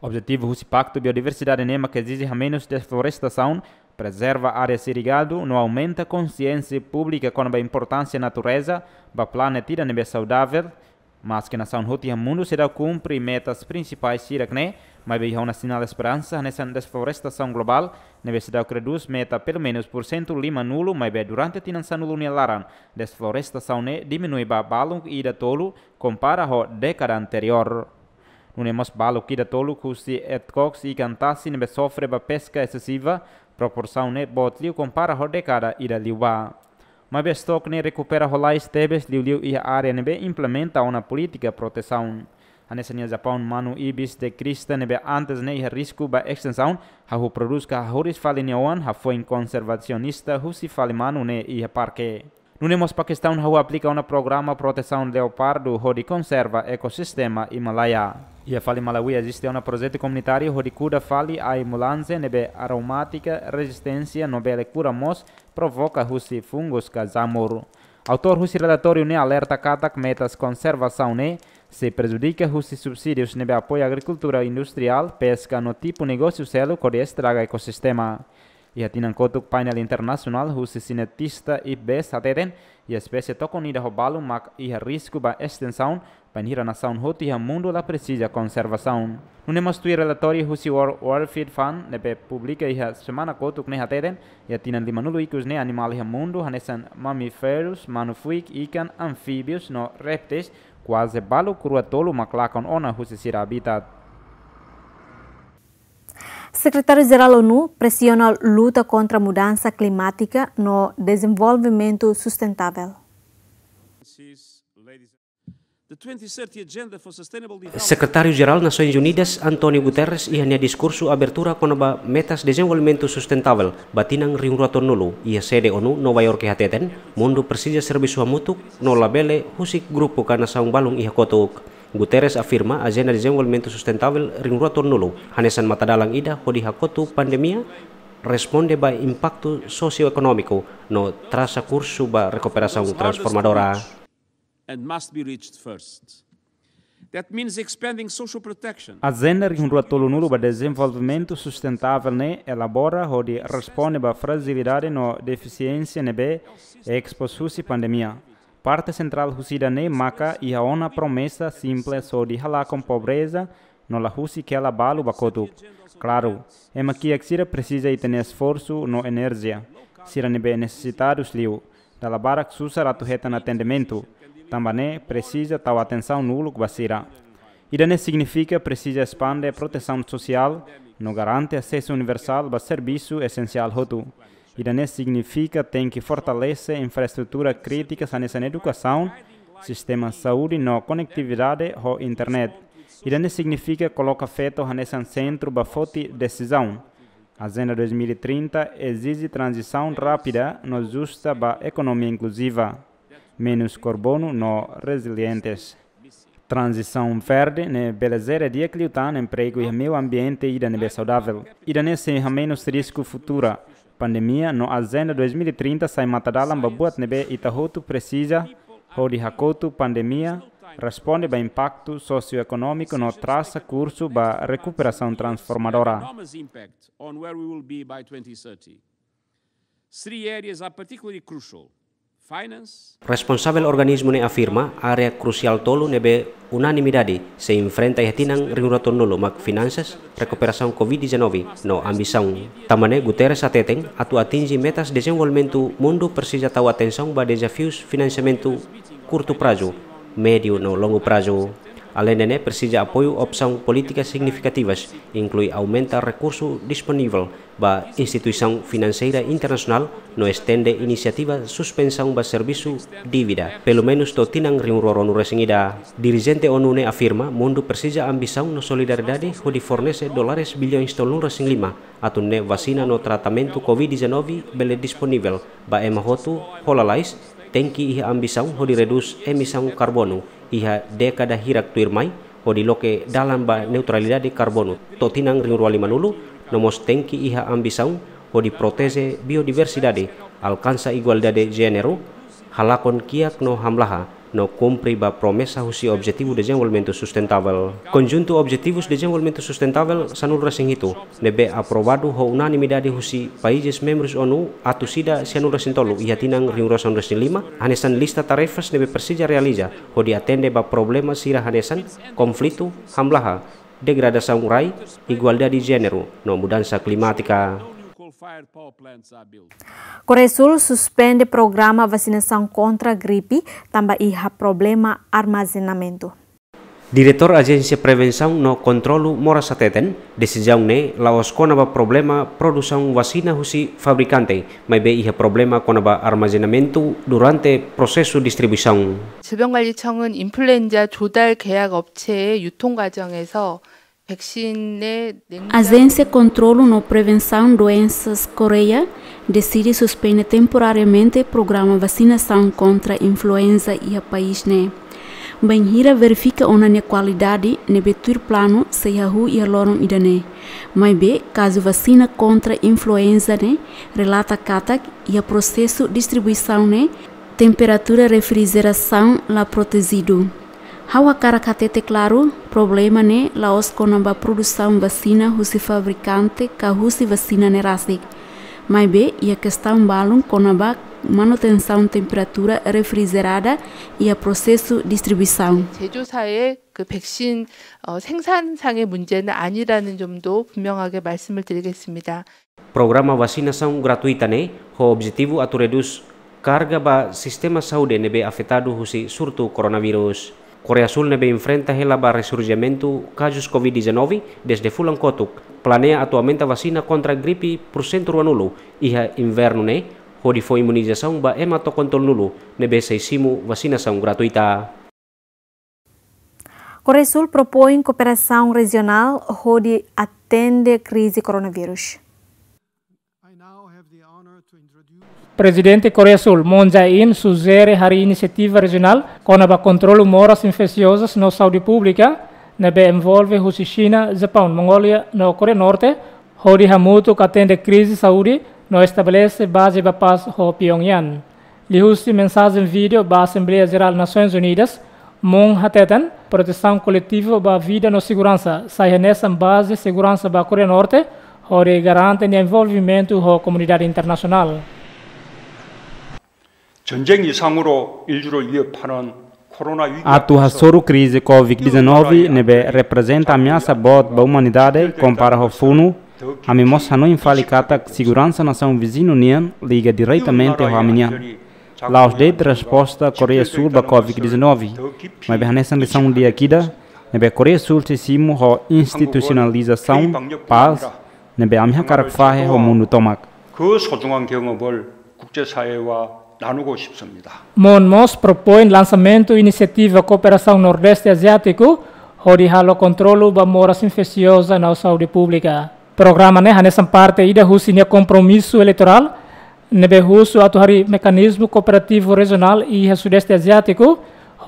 Objetivu husi Paktu Biodiversidade ne'e mak ezije hamenus deflorestasaun, prezerva área irrigadu no aumenta konsiénsia públika kona-ba importánsia natureza ba planeta ida ne'ebé saudavel. Maske nasaun hotu iha mundu seidauk kumpre metas prinsipais hirak-ne'e, maibé iha ona sinál esperansa hanesan deflorestasaun globál ne'ebé seidauk redús meta pelumenus pursentu limanulu, maibé durante tinan sanulu nia laran deflorestasaun ne'e diminui ba balun ida tolu kompara ho dékada anteriór. Nune'e mós balun ida tolu husi etkoks ikan tasi ne'ebé sofre ba peska esesiva, proporsaun ne'e boot liu kompara ho dékada ida liubá. Maibé estoke ne'e rekupera lalais tebes liuliu iha área ne'ebé implementa ona polítika protesaun. Hanesan iha Japaun manu ibis de crista ne'ebé antes ne'e iha risku ba estinsaun, hahú prodús ka hahú riis fali nia oan hafoin konservasionista husi fali manu ne'e iha parke. Nune'e mós Pakistaun hahú aplika ona programa protesaun leopardu hodi konserva ekosistema Himalaia. Iha fali Malawi eziste ona projetu komunitáriu hodi kuda fali ai mulanze ne'ebé aromátika rezisténsia no bele kura mós provoka husi fungus ka jamur. Autór husi relatóriu ne'e alerta katak metas konservasaun ne'e sei prejudika husi subsídius ne'ebé apoia agrikultura industriál, peska no tipu negósiu seluk hodi estraga ekosistema. Iha tinan kotuk painel internasionál husi sientista IPBES hateten, iha espésie tokon ida ho balun mak iha risku ba estinsaun, bainhira nasaun hotu iha mundu la presiza konservasaun. Nune'e mós tuir relatóriu husi World Wildlife Fund ne'ebé publika iha semana kotuk ne'e hateten, iha tinan limanulu ikus ne'e animál iha mundu hanesan mamíferus, manu fuik, ikan, anfíbius no répteis, kuaze balun rua tolu mak lakon ona husi sira habitat. Sekretáriu Jerál ONU presiona luta kontra mudansa klimátika no dezenvolvimentu sustentável. Sekretáriu Jerál Nasoins Unidas, António Guterres, iha nia diskursu abertura kona-ba metas dezenvolvimentu sustentável ba tinan rihun rua tolunulu iha sede ONU, Nova York, hateten, mundu presiza servisu hamutuk no labele husik grupu ka nasaun balun iha kotuk. Guterres afirma ajenda dezenvolvimentu sustentável rihun rua tolunulu hanesan matadalan ida hodi hakotu pandemia, responde ba impaktu sosioekonómiku no trasa kursu ba rekuperasaun transformadora. And must be reached first. That means expanding social protection. Ajenda rihun rua tolunulu ba dezenvolvimentu sustentável ne'e elabora hodi responde ba frajilidade no defisiénsia ne'ebé expose husi pandemia. Parte sentrál husi ida-ne'e maka iha ona promesa simples hodi halakon pobreza, no la husik hela balu ba kotuk. Klaru, ema kiak sira presiza ita-nia esforsu no enerjia. Sira ne'ebé nesesitadus liu, dala barak susar atu hetan atendimentu, tanba ne'e presiza tau atensaun uluk ba sira. Ida-ne'e signifika presiza espande protesaun sosiál no garante asesu universál ba servisu esensiál hotu. Ida-ne'e signifika tenke fortalese infraestrutura krítika hanesan edukasaun, sistema saúde no konetividade ho internet. Ida-ne'e signifika koloka feto hanesan sentru ba foti desizaun. Ajenda dois mil e trinta ezije tranzisaun rápida no justa ba ekonomia inkluziva, menus karbonu no rezilientes. Tranzisaun verde ne'e bele jere di'ak liután empregu iha meiu ambiente ida ne'ebé saudavel. Ida-ne'e sei hamenus risku futura. Pandemia no Ajenda dois mil e trinta sai matadalan ba buat ne'ebé ita hotu presiza hodi hakotu pandemia, responde ba impaktu sosioekonómiku no trasa kursu ba rekuperasaun transformadora. Enormous impact on where we will be by twenty thirty. Three areas are particularly crucial. Finance. Responsavel organismu ne'e afirma área krusiál tolu ne'ebé unanimidade sei enfrenta iha tinan rihun rua tolunulu mak finansas, rekuperasaun covid dezanove no ambisaun. Tanba ne'e Guterres hateten atu atinje metas dezenvolvimentu mundu presiza tau atensaun ba dezafius finansiamentu kurtu prazu, médiu no longu prazu. Aleinde ne'e presiza apoiu opsaun polítika signifikativas, inklui aumenta rekursu disponivel ba instituisaun finanseira internasionál no estende inisiativa suspensaun ba servisu dívida, pelumenus to'o tinan rihun rua ruanulu resin ida. Dirijente ONU ne'e afirma mundu presiza ambisaun no solidariedade hodi fornese dólares bilhões tolunulu resin lima atu nune'e vasina no tratamentu covid dezanove bele disponivel ba ema hotu ho lalais, tenke iha ambisaun hodi redús emisaun karbonu iha dékada hirak tuirmai, hodi loke dalan ba neutralidade karbonu to'o tinan rihun rua limanulu, no mós tenke iha ambisaun hodi proteje biodiversidade, alkansa igualdade jéneru, halakon kiak no hamlaha, no kumpre ba promesa husi Objetivu Dezenvolvimentu Sustentável. Konjuntu Objetivus Dezenvolvimentu Sustentável sanulu resin hitu ne'ebé aprovadu ho unanimidade husi países membrus ONU atus ida sianulu resin tolu iha tinan rihun rua sanulu resin lima, hanesan lista tarefas ne'ebé presiza realiza hodi atende ba problema sira hanesan konflitu, hamlaha, degradasaun rai, igualdade jéneru no mudansa klimátika. Koreia Súl suspende programa vasinasaun kontra gripe tanba iha problema armazenamentu. Diretór Ajénsia Prevensaun no Kontrolu Moras hateten, desizaun ne'e la'ós kona-ba problema produsaun vasina husi fabrikante, maibé iha problema kona-ba armazenamentu durante prosesu distribuisaun. 질병관리청은 인플루엔자 조달 계약 업체의 유통 과정에서 백신의 Ajénsia Kontrolu no Prevensaun Doensas Koreia deside suspende temporariamente programa vasinasaun kontra influenza iha país ne'e. Bainhira verifika ona nia kualidade ne'ebé tuir planu sei hahú iha loron ida-ne'e. Maibé, kazu vasina kontra influenza ne'e relata katak iha prosesu distribuisaun ne'e temperatura refrigerasaun la protejidu. Ha'u hakarak hatete klaru, problema ne'e la'ós kona-ba produsaun vasina husi fabrikante ka husi vasina ne'e rasik. Maibé, iha kestaun balun kona-ba manutensaun temperatura refrijerada iha prosesu distribuisaun. 제조사의 그 백신 어, 생산상의 문제는 아니라는 점도 분명하게 말씀을 드리겠습니다. Programa vasinasaun gratuita ne'e ho objetivu atu redús karga ba sistema saúde ne'ebé afetadu husi surtu koronavírus. Koreia Súl ne'ebé enfrenta hela ba resurjimentu kazus covid dezanove dezde fulan kotuk, planeia atu aumenta vasina kontra gripe pursentu ruanulu iha invernu ne'e, hodi fó imunizasaun ba ema to'o kontra tolunulu ne'ebé sei simu vasinasaun gratuita. Koreia Súl propoin kooperasaun rejionál hodi atende krize koronavírus. Prezidente Koreia Súl, Moon Jae-in, sujere harii inisiativa rejionál kona-ba kontrolu moras infesiozus no saúde públika, ne'ebé envolve husi Xina, Japaun, Mongólia no Koreia Norte, hodi hamutuk atende krize saúde no estabelese baze ba pás ho Pyongyang. Liuhusi mensajen vídeo ba Asembleia Jerál Nasoins Unidas, Moon hateten, protesaun koletivu ba vida no seguransa sai hanesan baze seguransa ba Koreia Norte, hodi garante nia envolvimentu ho komunidade internasionál. 전쟁 이상으로 인류를 위협하는 Atu hasoru krize Covid dezanove ne'ebé reprezenta ameasa boot ba umanidade kompara ho funu, ami mós hanoin fali katak seguransa nasaun viziñu nian liga diretamente ho ami-nian. La'ós de'it resposta Koreia Súl ba Covid dezanove, maibé hanesan lisaun di'ak ida ne'ebé Koreia Súl sei simu ho institusionalizasaun pás ne'ebé ami hakarak fahe ho mundu tomak. 그 소중한 경험을 국제사회와 나누고 싶습니다. Mon mós propoin lansamentu inisiativa kooperasaun Nordeste Aziátiku hodi halo kontrolu ba moras infesioza no saúde públika. Programa ne'e hanesan parte ida husi nia kompromisu eleitorál ne'ebé husu atu harii mekanizmu kooperativu rejionál iha Sudeste Aziátiku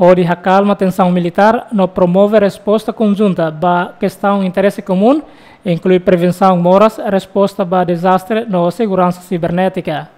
hodi hakalma tensaun militár no promove resposta konjunta ba kestaun interese komún, inklui prevensaun moras, resposta ba dezastre no seguransa sibernétika.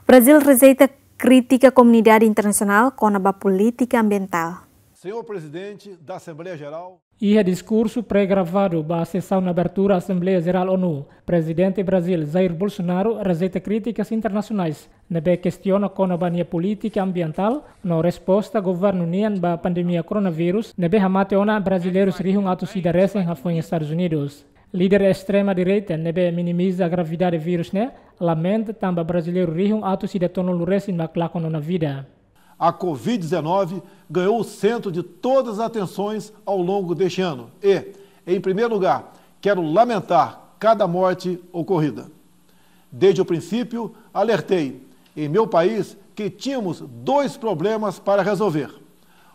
Brazil rejeita krítika komunidade internasionál kona-ba polítika ambientál. Senhor Presidente da Assembleia Geral. Iha diskursu pré-gravadu ba sesaun abertura Asembleia Jerál ONU, Prezidente Brazil Jair Bolsonaro rejeita krítikas internasionais ne'ebé kestiona kona-ba nia polítika ambientál no resposta governu nian ba pandemia koronavírus ne'ebé hamate ona brasileirus rihun atus ida resin hafoin Estadus Unidus. Líder estrema direita ne'ebé minimiza gravidade vírus ne'e lamenta tanba brasileiru rihun atus ida tolunulu resin mak lakon ona vida. A Covid dezanove ganhou o centro de todas as atenções ao longo deste ano. E, em primeiro lugar, quero lamentar cada morte ocorrida. Desde o princípio, alertei, em meu país, que tínhamos dois problemas para resolver: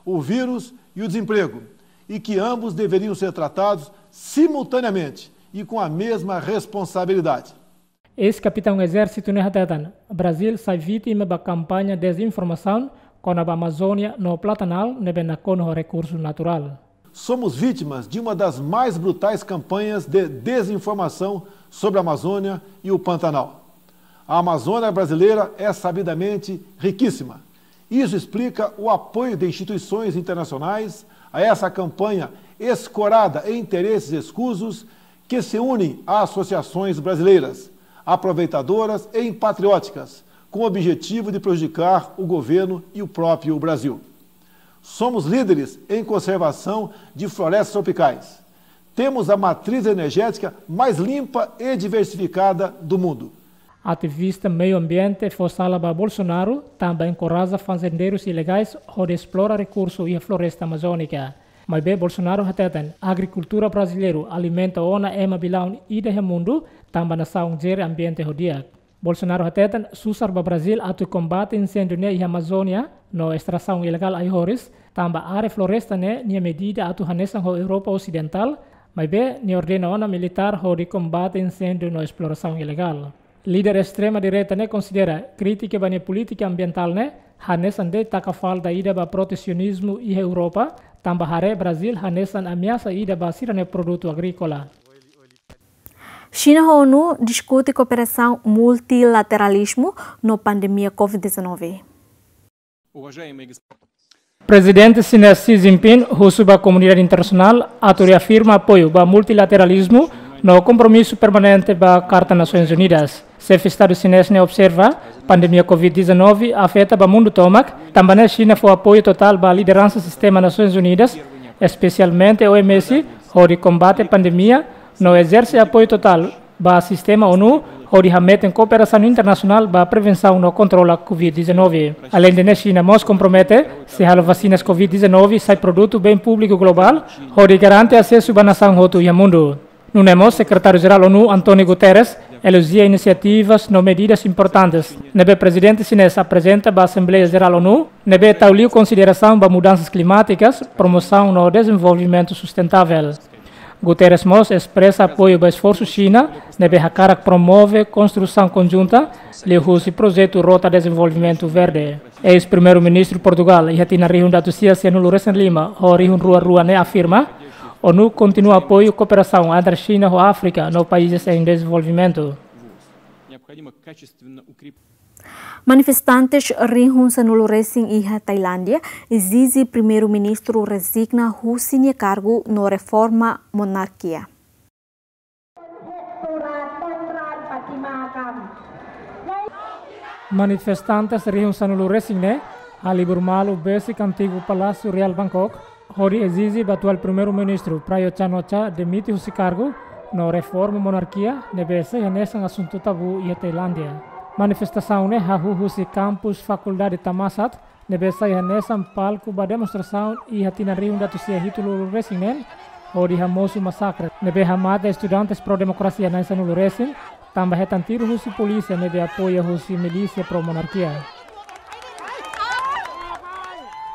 o vírus e o desemprego, e que ambos deveriam ser tratados simultaneamente e com a mesma responsabilidade. Eis-kapitaun ezérsitu ne'e hateten, Brazil sai vítima ba kampaña dezinformasaun kona-ba Amazónia no Platanal ne'ebé nakonu ho rekursu naturál. Somos vítimas de uma das mais brutais campanhas de desinformação sobre a Amazônia e o Pantanal. A Amazônia brasileira é sabidamente riquíssima. Isso explica o apoio de instituições internacionais a essa campanha escorada em interesses escusos que se unem a associações brasileiras, aproveitadoras e impatrióticas, com o objetivo de prejudicar o governo e o próprio Brasil. Somos líderes em conservação de florestas tropicais. Temos a matriz energética mais limpa e diversificada do mundo. Ativista meiu ambiente fó sala ba Bolsonaro, tanba enkoraja fazendeirus ilegais hodi esplora rekursu iha floresta amazónika. Maibé Bolsonaro hateten, agrikultura brasileiru alimenta ona ema bilaun ida iha mundu, tanba nasaun jere ambiente ho di'ak. Bolsonaro hateten, susar ba Brazil atu kombate inséndiu ne'e iha Amazónia, no estrasaun ilegál ai-horis, tanba área floresta ne'e nia medida atu hanesan ho Europa Osidentál, maibé nia ordena ona militár hodi kombate inséndiu no esplorasaun ilegál. Líder estrema direita ne'e konsidera krítika ba nia polítika ambientál ne'e hanesan de'it taka falta ida ba protesionizmu iha Europa, tanba haree Brazil hanesan ameasa ida ba sira-nia produtu agríkola. Xina ho ONU diskute kooperasaun multilateralizmu no pandemia Covid dezanove. Prezidente xinés Xi Jinping husu ba komunidade internasionál atu reafirma apoiu ba multilateralizmu no kompromisu permanente ba Karta Nasoins Unidas. Xefe Estadu xinés ne'e observa, pandemia Covid dezanove afeta ba mundu tomak, tanba ne'e Xina fó apoiu totál ba lideransa sistema Nasoins Unidas, espesialmente OMS, hodi kombate pandemia, no ezerse apoiu totál ba sistema ONU, hodi hametin kooperasaun internasionál ba prevensaun no kontrola Covid dezanove. Aleinde ne'e, Xina mós kompromete sei halo vasinas Covid dezanove sai produtu bem públiku globál, hodi garante asesu ba nasaun hotu iha mundu. Nune'e mós Sekretáriu Jerál ONU, António Guterres, elojia inisiativas no medidas importantes ne'ebé Prezidente xinés aprezenta ba Asembleia Jerál ONU, ne'ebé tau liu konsiderasaun ba mudansas klimátikas, promosaun no dezenvolvimentu sustentável. Guterres mós espresa apoiu ba esforsu Xina ne'ebé hakarak promove konstrusaun konjunta liuhusi projetu Rota Dezenvolvimentu Verde. Eis-Primeiru-Ministru Portugál, iha tinan rihun atus sia sianulu resin lima ho rihun rua rua ne'e afirma, ONU kontinua apoiu kooperasaun entre Xina ho Áfrika no países em desenvolvimento. Manifestantes rihun sanulu resin iha Tailándia ezije Primeiru-Ministru rezigna husi nia kargu no reforma monarkia. Manifestantes rihun sanulu resin ne'e Halibur malu besik antigu Palásiu Reál Bangkok, hodi ezije ba atuál Primeiru-Ministru Prayut Chan-o-cha demite husi kargu, no reforma monarkia, ne'ebé sai hanesan asuntu tabu iha Tailándia. Manifestasaun ne'e hahú husi kampus Fakuldade Thammasat, ne'ebé sai hanesan palku ba demonstrasaun iha tinan rihun ida atus sia hitunulu resin neen, hodi hamosu masakre ne'ebé hamate estudantes pro-demokrasia na'in sanulu resin, tanba hetan tiru husi polísia ne'ebé apoia husi milísia pro-monarkia.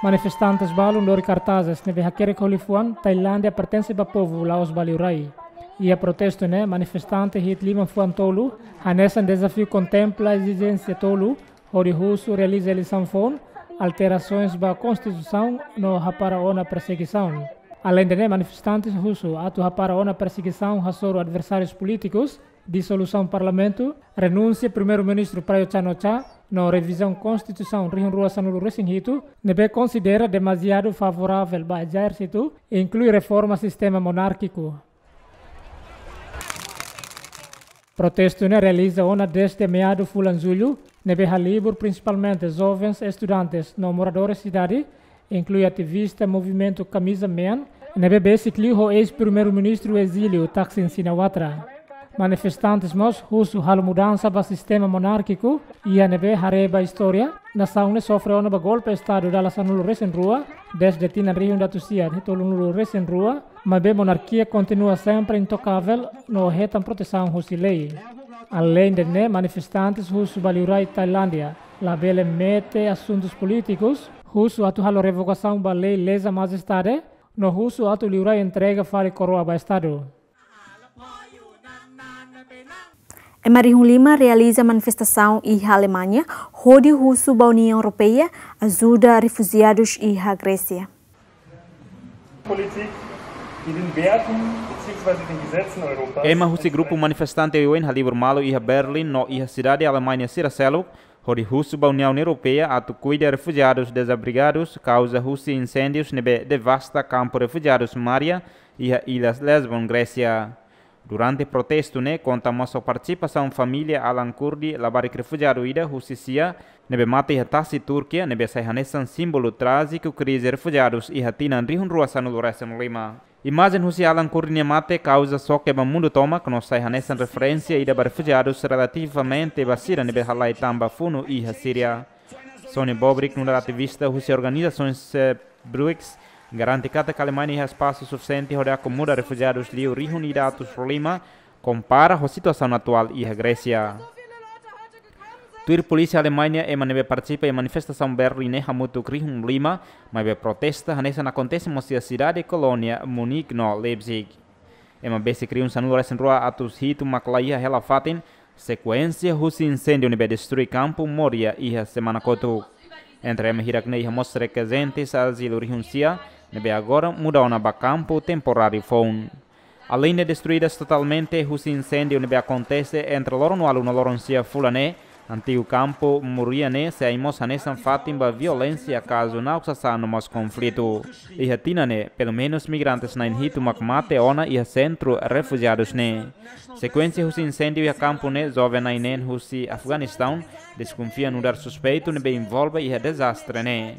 Manifestantes balun lori kartazes ne'ebé hakerek ho liafuan "Tailándia pertense ba povu, la'ós ba liurai". Iha protestu ne'e, manifestante hi'it liman fuan tolu hanesan dezafiu "Kontempla ezijénsia tolu", hodi husu realiza eleisaun foun, alterasoens ba konstituisaun no hapara ona persegisaun. Aleinde ne'e, manifestantes husu atu hapara ona persegisaun hasoru adversárius polítikus, disolusaun parlamentu, renúnsia Primeiru-Ministru Prayut Chan-o-cha, no revizaun konstituisaun rihun rua sanulu resin hitu, ne'ebé konsidera demaziadu favoravel ba ezérsitu, inklui reforma sistema monárkiku. Protestu ne'e realiza ona dezde meadu fulan jullu, ne'ebé halibur prinsipalmente jovens, estudantes no moradores sidade, inklui ativista movimentu Kamiza Mean, ne'ebé besik liu ho eis-Primeiru-Ministru ezíliu Thaksin Shinawatra. Manifestantes mós husu halo mudansa ba sistema monárkiku, iha ne'ebé haree ba istória, nasaun ne'e sofre ona ba golpe Estadu dala sanulu resin rua, dezde tinan rihun ida atus sia hitunulu resin rua, maibé monarkia kontinua sempre intokavel no hetan protesaun husi lei. Aleinde ne'e, manifestantes husu ba liurai Tailándia labele mete asuntus polítikus, husu atu halo revogasaun ba lei leza majestade, no husu atu liurai entrega fali koroa ba Estadu. Ema rihun lima realiza manifestasaun iha Alemaña, hodi husu ba Uniaun Europeia ajuda refujiadus iha Grésia. Politik, die den Werten beziehungsweise den Gesetzen Europas Ema husi grupu manifestante oioin halibur malu iha Berlin no iha sidade Alemaña sira seluk, hodi husu ba Uniaun Europeia atu kuida refujiadus dezabrigadus kauza husi inséndius ne'ebé devasta kampu refujiadus Moria, iha illa Lesbos, Grésia. Durante protestu ne'e, konta mós ho partisipasaun família Alan Kurdi, labarik refujiadu ida husi Sia, ne'ebé mate iha tasi Turkia, ne'ebé sai hanesan símbolu trájiku krize refujiadus iha tinan rihun rua sanulu resin lima. Imajen husi Alan Kurdi nia mate kauza xoke ba mundu tomak, no sai hanesan referénsia ida ba refujiadus relativamente ba sira ne'ebé halai tan ba funu iha Síria. Sonny Bobrick, nu'udar ativista husi organizasaun Save Brügge, garante katak Alemaña iha espasu sufisiente hodi akomoda refujiadus liu rihun ida atus lima, kompara ho situasaun atuál iha Grésia. Tuir polísia Alemaña, ema ne'ebé partisipa iha manifestasaun Berlin ne'e hamutuk rihun lima, maibé protesta hanesan akontese mós iha sidade kolónia Munique no Leipzig. Ema besik rihun sanulu resin rua atus hitu mak laiha hela fatin, sekuénsia husi inséndiu ne'ebé destrui kampu Moria iha semana kotuk. Entre ema hirak ne'e iha mós rekezentes azilu rihun sia, ne'ebé agora muda ona ba kampu temporáriu foun. Aleinde destruidas totalmente husi inséndiu ne'ebé akontese entre loron ualu no loron sia fulan ne'e, antigu kampu Moria ne'e sei mós hanesan fatin ba violénsia kazu na'ok sasán no mós konflitu. Iha tinan ne'e, pelumenus migrantes na'in hitu mak mate ona iha sentru refujiadus ne'e. Sekuénsia husi inséndiu iha kampu ne'e, joven na'in neen husi Afeganistaun deskonfia nu'udar suspeitu ne'ebé envolve iha dezastre ne'e.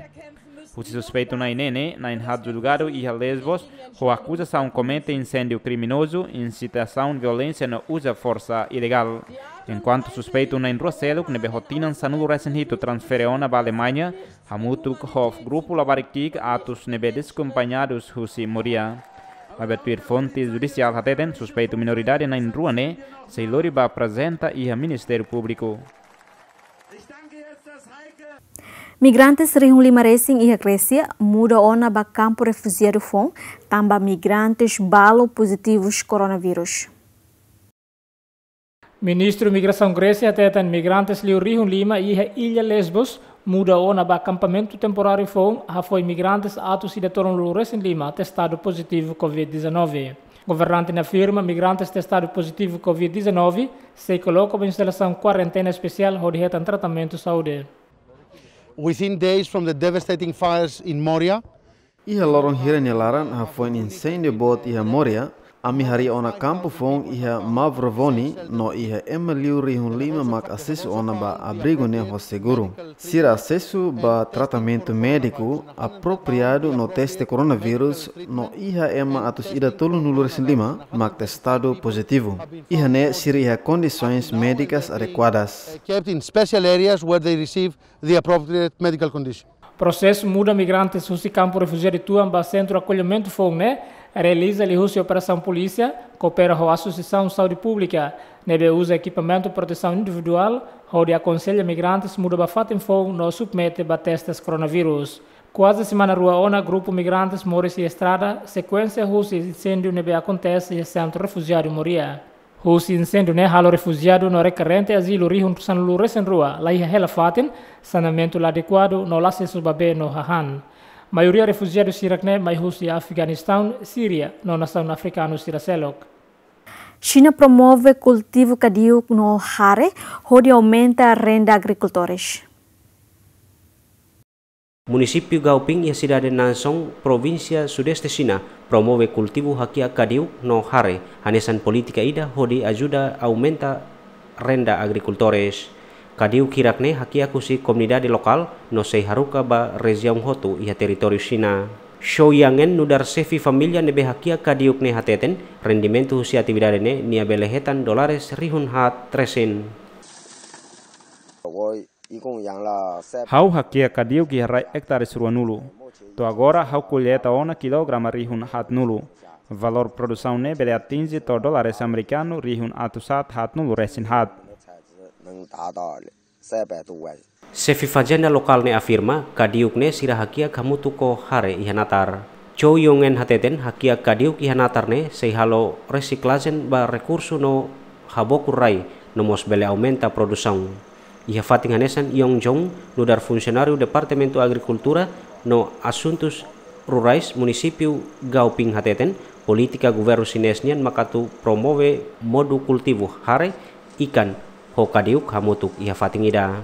Husi suspeitu na'in neen ne'e, na'in haat julgadu iha Lesbos, ho akuzasaun komete inséndiu kriminozu, insitasaun violénsia no uza forsa ilegál. Enkuantu suspeitu na'in rua seluk ne'ebé ho tinan sanulu resin hitu transfere ona ba Alemaña, hamutuk ho grupu labarik ki'ik atus ne'ebé desakompañadus husi Moria. Maibé tuir fonte judisiál hateten, suspeitu minoridade na'in rua ne'e sei lori ba aprezenta iha Ministériu Públiku. Migrantes rihun lima resin iha Grésia muda ona ba kampu refujiadu foun, tanba migrantes balu pozitivus koronavírus. Ministru Migrasaun Grésia hateten migrantes liu rihun lima iha illa Lesbos muda ona ba akampamentu temporáriu foun, hafoin migrantes atus ida tolunulu resin lima testadu pozitivu covid dezanove. Governante ne'e afirma migrantes testadu pozitivu covid dezanove sei koloka ba instalasaun kuarentena espesiál hodi hetan tratamentu saúde. Within days from the devastating fires in Moria, Iha loron hira nia laran, hafoin inséndiu boot iha Moria, Ami harii ona kampu foun iha Mavrovoni, no iha ema liu rihun lima mak asesu ona ba abrigu ne'e ho seguru. Sira asesu ba tratamentu médiku apropriadu no teste koronavírus, no iha ema atus ida tolunulu resin lima mak testadu pozitivu. Iha ne'e sira iha kondisoens médikas adekuadas. Kept in special areas where they receive the appropriate medical condition. Prosesu muda migrantes husi kampu refujiadu tuan ba sentru akollimentu foun ne'e realiza liuhusi operasaun polísia koopera ho Asosiasaun Saúde Públika, ne'ebé uza ekipamentu protesaun individuál hodi akonsella migrantes muda ba fatin foun no submete ba testes koronavírus. Kuaze semana rua ona grupu migrantes moris iha estrada, sekuénsia husi inséndiu ne'ebé akontese iha sentru refujiadu Moria. Husi inséndiu ne'e halo refujiadu no rekerente azilu rihun sanulu resin rua la iha hela fatin, saneamentu la adekuadu no la asesu ba bee no hahán. Maioria refujiadu sira-ne'e mai husi Afeganistaun, Síria no nasaun afrikanu sira seluk. Xina promove kultivu kadiuk no hare hodi aumenta renda agrikultores. Munisípiu Gaopin iha sidade Nansong, provínsia Sudeste Xina, promove kultivu hakiak kadiuk no hare, hanesan polítika ida hodi ajuda aumenta renda agrikultores. Kadiuk hirak-ne'e hakiak husi komunidade lokál no sei haruka ba rejiaun hotu iha territóriu Xina. Shou Yangen, nu'udar xefe família ne'ebé hakiak kadiuk ne'e hateten, rendimentu husi atividade ne'e nia bele hetan dólares rihun haat resin. Ha'u hakiak kadiuk iha rai ektares ruanulu. To'o agora ha'u kolleita ona kilograma rihun haatnulu. Valór produsaun ne'e bele atinje to'o dólares amerikanu rihun atus haat haatnulu resin haat. Xefe fazenda lokál ne'e afirma, kadiuk ne'e sira hakiak hamutuk ho hare iha natar. Chou Yongen hateten, hakiak kadiuk iha natar ne'e sei halo resiklajen ba rekursu no habokur rai, no mós bele aumenta produsaun. Iha fatin hanesan, Yong Jong, nu'udar funsionáriu Departamentu Agrikultura no Asuntus Rurais Munisípiu Gaopin hateten, polítika governu xinés nian mak atu promove modu kultivu hare, ikan ho kadiuk hamutuk iha fatin ida.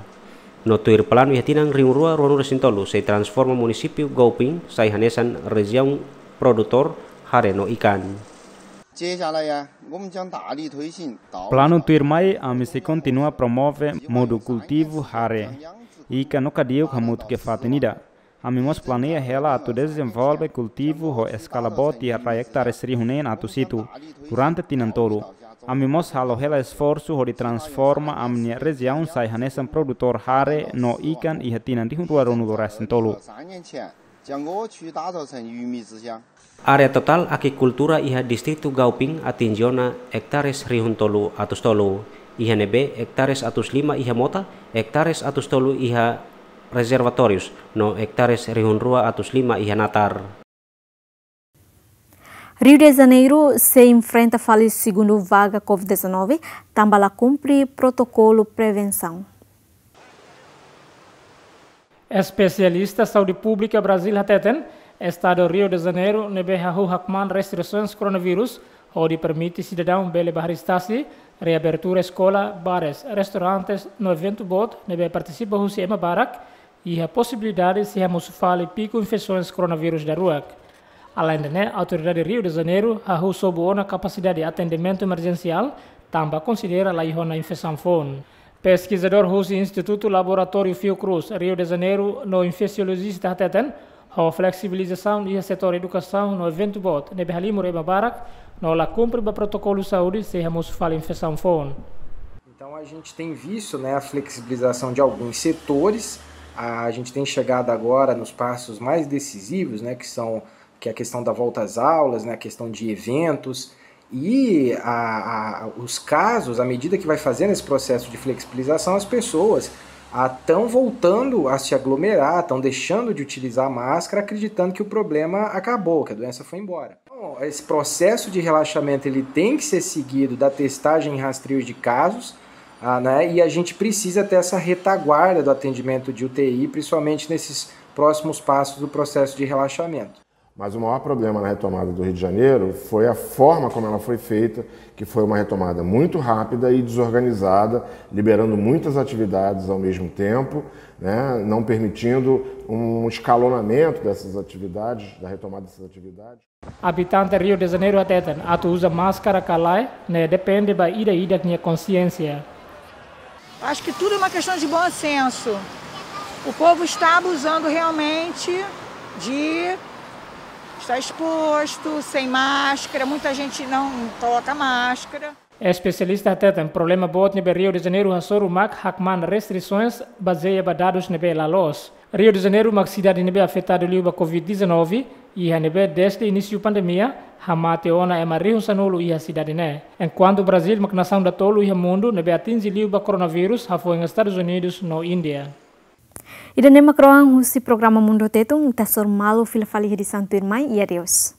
No tuir planu iha tinan rihun rua ruanulu resin tolu sei transforma munisípiu Gaopin sai hanesan rejiaun produtór hare no ikan. Planu tuirmai, ami sei kontinua promove modu kultivu hare, ikan no kadiuk hamutuk iha fatin ida. Ami mós planeia hela atu dezenvolve kultivu ho eskala boot iha rai ektares rihun neen atus hitu durante tinan tolu. Ami mós halo hela esforsu hodi transforma ami-nia rejiaun sai hanesan produtór hare no ikan iha tinan rihun rua ruanulu resin tolu. Área totál akikultura iha distritu Gaopin atinje ona ektares rihun tolu atus tolu, iha ne'ebé ektares atus lima iha mota, ektares atus tolu iha rezervatórius, no ektares rihun rua atus lima iha natar. Rio de Janeiro sei enfrenta fali segundu vaga covid dezanove, tanba la kumpre protokolu prevensaun. Espesialista saúde públika Brazil hateten, estadu Rio de Janeiro ne'ebé hahú hakmaan restrisaun koronavírus, hodi permite sidadaun bele bá hariis tasi, reabertura eskola, bares, restaurantes, no eventu boot ne'ebé partisipa husi ema barak, iha posibilidade sei hamosu fali piku infesaun koronavírus daruak. Alende ne'e, autoridade Rio de Janeiro hahú sobu ona kapasidade atendimentu emerjensiál, tanba konsidera la iha ona infesaun foun. Peskizadór husi Institutu Laboratóriu Fiocruz, Rio de Janeiro, no infesiolojista hateten, ho fleksibilizasaun iha setór edukasaun no eventu boot ne'ebé halimur ema barak, no la kumpre ba protokolu saúde, sei hamosu fali infesaun foun. Então, a gente tem visto, né, a flexibilização de alguns setores. A gente tem chegado agora nos passos mais decisivos, né, que são, que é a questão da volta às aulas, né, a questão de eventos. E a, a, os casos, à medida que vai fazendo esse processo de flexibilização, as pessoas estão voltando a se aglomerar, estão deixando de utilizar máscara, acreditando que o problema acabou, que a doença foi embora. Então, esse processo de relaxamento, ele tem que ser seguido da testagem e rastreio de casos, ah, né? E a gente precisa ter essa retaguarda do atendimento de U T I, principalmente nesses próximos passos do processo de relaxamento. Mas o maior problema na retomada do Rio de Janeiro foi a forma como ela foi feita, que foi uma retomada muito rápida e desorganizada, liberando muitas atividades ao mesmo tempo, né, não permitindo um escalonamento dessas atividades, da retomada dessas atividades. Abitante Rio de Janeiro hateten, atu uza máskara ka lae, ne'e depende ba ida-idak nia konsiénsia. Acho que tudo é uma questão de bom senso. O povo está abusando realmente de estar exposto, sem máscara, muita gente não coloca máscara. Espesialista hateten, problema boot ne'ebé Rio de Janeiro hasoru mak hakmaan restrisoens bazeia ba dadus ne'ebé la loos. Rio de Janeiro mak sidade ne'ebé afetadu liu ba covid dezanove, iha ne'ebé dezde inísiu pandemia hamate ona ema rihun sanulu iha sidade ne'e. Enkuantu Brazíl mak nasaun datolu iha mundu ne'ebé atinje liu ba koronavírus, hafoin Estadus Unidus no Índia. Ida-ne'e mak rohan husi programa Mundu Tetun, ita hasoru malu fila fali edisaun tuirmai, i adeus.